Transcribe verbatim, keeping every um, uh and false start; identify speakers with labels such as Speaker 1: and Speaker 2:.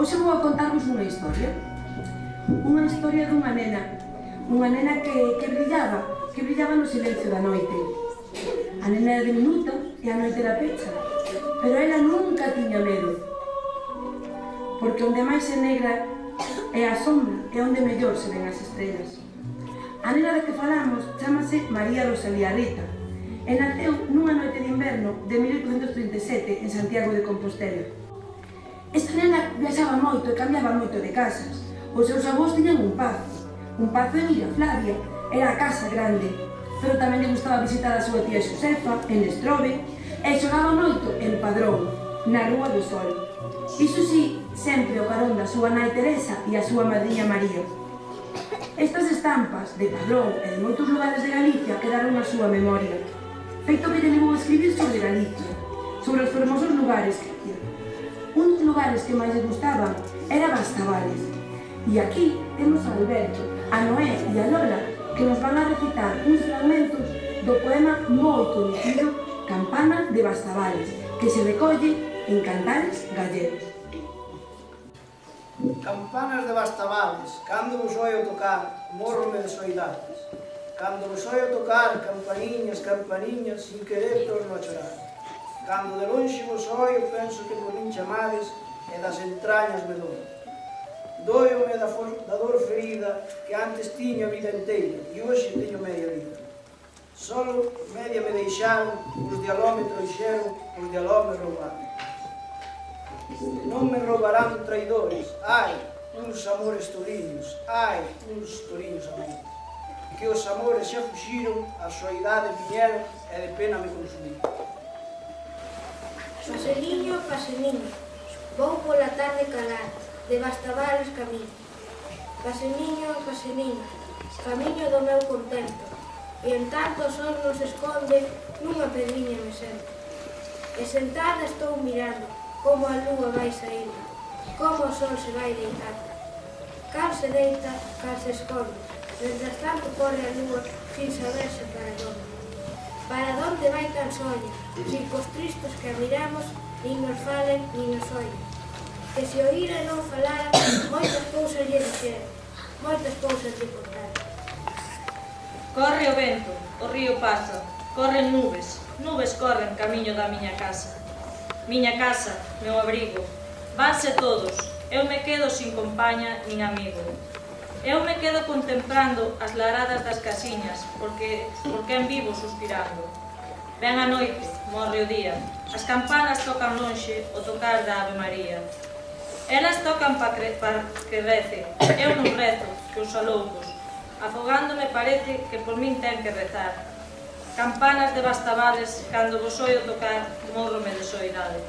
Speaker 1: Hoxe vou a contarvos unha historia. Unha historia dunha nena. Unha nena que, que brillaba, que brillaba no silencio da noite. A nena era diminuta e a noite era pecha, pero ela nunca tiña medo. Porque onde máis é negra é a sombra, é onde mellor se ven as estrellas. A nena da que falamos chamase María Rosalía Rita e naceu nunha noite de inverno de mil oitocentos trinta e sete en Santiago de Compostela. Esta nena viaxaba moito e cambiaba moito de casas. Os seus avós tiñan un pazo, un pazo en Illa Flavia, era a casa grande, pero tamén lle gustaba visitar a súa tía Xosefa en Lestrobe e xogaba moito en Padrón, na Rúa do Sol. Iso sí, sempre o carón da súa nai Teresa e a súa madriña María. Estas estampas de Padrón e de moitos lugares de Galicia quedaron na súa memoria, feito que lle levou a escribir sobre Galicia, sobre os fermosos lugares que había. Un dos lugares que máis lle gustaban era Bastavales. E aquí temos a Alberto, a Noé e a Lola que nos van a recitar uns fragmentos do poema moi coñecido Campana de Bastavales, que se recolle en Cantares Gallegos.
Speaker 2: Campanas de Bastavales, cando vos oio tocar, morrome de soidades. Cando vos oio tocar, campaniñas, campaniñas, sin querer torno a chorar. Cando de lonxe vos oio, penso que por min chamades e das entrañas me dou. Doio-me da, da dor ferida que antes tiña a vida inteira e hoxe teño media vida. Solo media me deixaron, os de aló me trouxeron, os de aló me roubaron. Non me roubarán traidores, ai, uns amores toriños, ai, uns toriños amores. Que os amores xa fuxiron, a soidade viñeron e de pena me consumiron.
Speaker 3: Paseliño, paseliño, vou pola tarde calar, de Bastavales camiño. Paseliño, paseliño, camiño do meu contento, e en tanto o sol nos esconde, nunha pedriña me sento. E sentada estou mirando, como a lúa vai saindo, como o sol se vai deitando. Cal se deita, cal se esconde, mientras tanto corre a lúa, sin saberse para onde. Para onde vai tan soña, sin cos tristos que a miramos, nin nos falen, nin nos oyen. Que se oíra e non falara, moitas cousas lle dixeron, moitas cousas lle contaron.
Speaker 4: Corre o vento, o río pasa, corren nubes, nubes corren camiño da miña casa. Miña casa, meu abrigo, vanse todos, eu me quedo sin compaña nin amigo. Eu me quedo contemplando as laradas das casiñas, porque, porque en vivo suspirando. Ven a noite, morre o día, as campanas tocan lonxe o tocar da Ave María. Elas tocan pa, cre, pa que rece, eu non rezo, que os aloucos, afogándome parece que por min ten que rezar. Campanas de Bastavales, cando vos oio tocar, morrome de soidade.